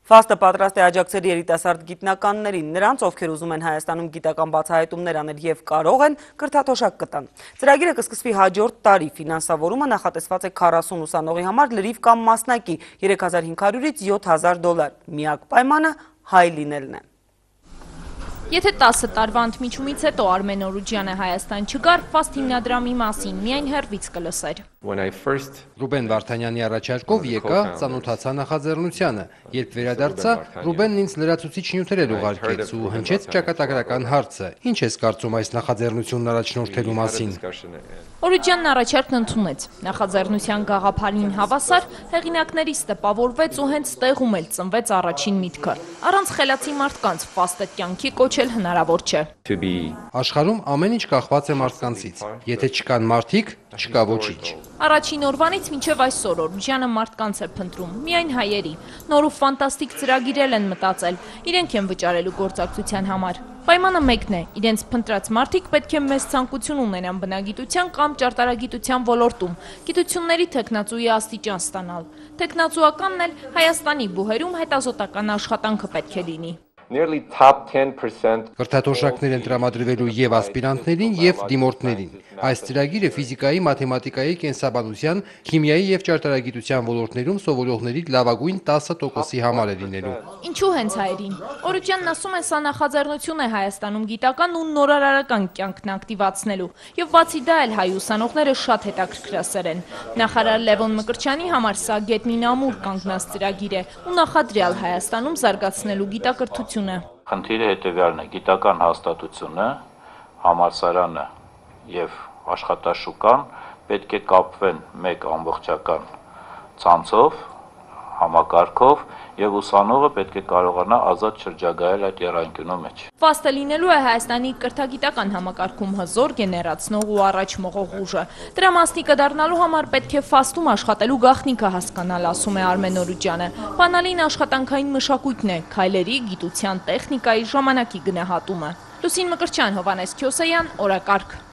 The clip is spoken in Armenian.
Ֆաստը պատրաստ է աջակցել երիտասարդ գիտնականներին, նրանց, ովքեր ուզում են Հայաստանում գիտական բացահայտումներ անել եւ կարող են, կրթաթոշակ կտան։ Ծրագիրը կսկսվի հաջորդ տարի, ֆինանսավորումը նախատեսված է 40 ուսանողի համար լրիվ կամ մասնակի, $3500-ից $7000։ Միակ պայմանը հայ լինելն է։ Եթե 10 տարվա ընդմիջումից հետո Արմեն Օրուջյանը Հայաստան չգար, Ֆաստ հիմնադրամի մասին միայն հեռվից կլսեր։ Ռուբեն Վարդանյանի առաջարկով եկա, ծանոթացա նախաձեռնությանը։ Երբ վերադարձա, Ռուբենն ինձ լրացուցիչ նյութեր էր ուղարկեց ու հնչեց ճակատագրական հարցը. «Ինչ ես կարծում այս նախաձեռնությունն առաջնորդելու մասին»։ Օրուջյանն առաջարկն ընդունեց։ Նախաձեռնության գաղափարին հավասար հեղինակներից տպավորվեց ու հենց տեղում էլ ծնվեց առաջին միտքը։ Առանց խելացի մարդկանց Ֆաստը կյանքի կոչել հնարավոր չէ։ Աշխարհում ամեն ինչ կախված է մարդկանցից։ Եթե չկան մարդիկ, չկա ոչինչ։ Առաջին օրվանից մինչև այսօր Օրուջյանը մարդկանց է փնտրում, միայն հայերի։ Նոր ու ֆանտաստիկ ծրագիրել են մտածել, իրենք են վճարելու գործակցության համար։ Պայմանը մեկն է, իրենց փնտրած մարդիկ պետք է մեծ ցանկություն ունենան բնագիտության կամ ճարտարագիտության ոլորտում, գիտությունների թեկնածուի աստիճան ստանալ։ Թեկնածուականն էլ Հայաստանի բուհերում հետազոտական աշխատանքը պետք է լինի։ Կրթաթոշակներ են տրամադրվելու եւ ասպիրանտներին եւ դիմորդներին։ Այս ծրագիրը ֆիզիկայի, մաթեմատիկայի, կենսաբանության, քիմիայի եւ ճարտարագիտության ոլորտներում սովորողների լավագույն 10%-ի համար է լինելու։ Ինչու հենց հայերին։ Օրուջյանն ասում է, սա նախաձեռնություն է Հայաստանում գիտական ու նորարարական կյանքն ակտիվացնելու։ Եվ բացի դա էլ հայ ուսանողները շատ հետաքրքրասեր են։ Նախարար Լևոն Մկրտչյանի համար սա գետնին ամուր կանգնած ծրագիր է ու նախադրյալ Հայաստանում զարգացնելու գիտակրթությունը։ Խնդիրը հետևյալն է՝ գիտական հաստատությունը, համալսարանը եւ աշխատաշուկան պետք է կապվեն մեկ ամբողջական ցանցով, համակարգով եւ ուսանողը պետք է կարողանա ազատ շրջագայել այդ եռանկյունու մեջ։ Ֆաստը լինելու է Հայաստանի կրթագիտական համակարգում հզոր, գեներացնող ու առաջ մղող ուժը։ Դրա մասնիկը դառնալու համար պետք է Ֆաստում աշխատելու գաղտնիքը հասկանալ, ասում է Արմեն Օրուջյանը։ Բանալին աշխատանքային մշակույթն է, քայլերի, գիտության, տեխնիկայի, ժամանակի գնահատումը։ Լուսին Մկրտչյան, Հովհաննես Քյոսեյան, օրակարգ։